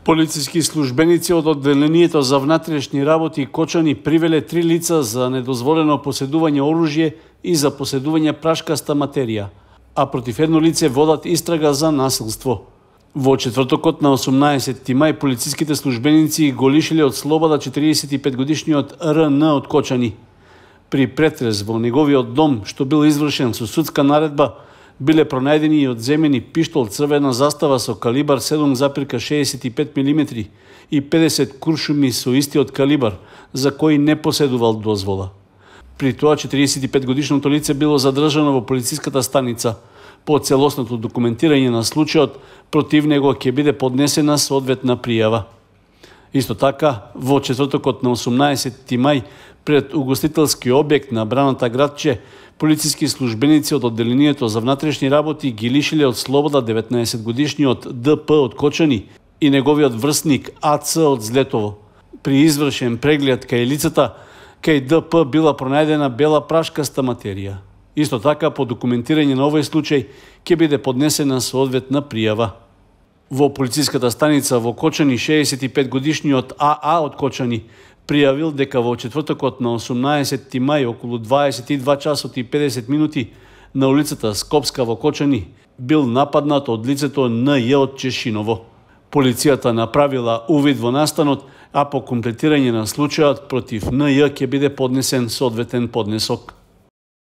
Полициски службеници од одделението за внатрешни работи Кочани привеле 3 лица за недозволено поседување оружје и за поседување прашкаста материја, а против едно лице водат истрага за насилство. Во четвртокот на 18 мај полициските службеници го лишиле од слобода 45-годишниот РН од Кочани. При претрез во неговиот дом, што бил извршен со судска наредба, биле пронајдени и одземени пиштол црвена застава со калибар 7,65 мм и 50 куршуми со истиот калибар, за кои не поседувал дозвола. При тоа 45-годишното лице било задржано во полициската станица. По целосното документирање на случајот, против него ќе биде поднесена соодветна пријава. Исто така, во четвртокот на 18 мај, пред угостителски објект на Браната градче, полициски службеници од одделението за внатрешни работи ги лишиле од слобода 19-годишниот ДП од Кочани и неговиот врсник АЦ од Злетово. При извршен преглед кај лицата, кај ДП била пронајдена бела прашкаста материја. Исто така, по документирање на овој случај, ќе биде поднесена соодветна пријава. Во полициската станица во Кочани 65-годишниот АА од Кочани пријавил дека во четвртокот на 18 мај околу 22 часот и 50 минути на улицата Скопска во Кочани бил нападнат од лицето НЈ од Чешиново. Полицијата направила увид во настанот, а по комплетирање на случајот против НЈ ќе биде поднесен соодветен поднесок.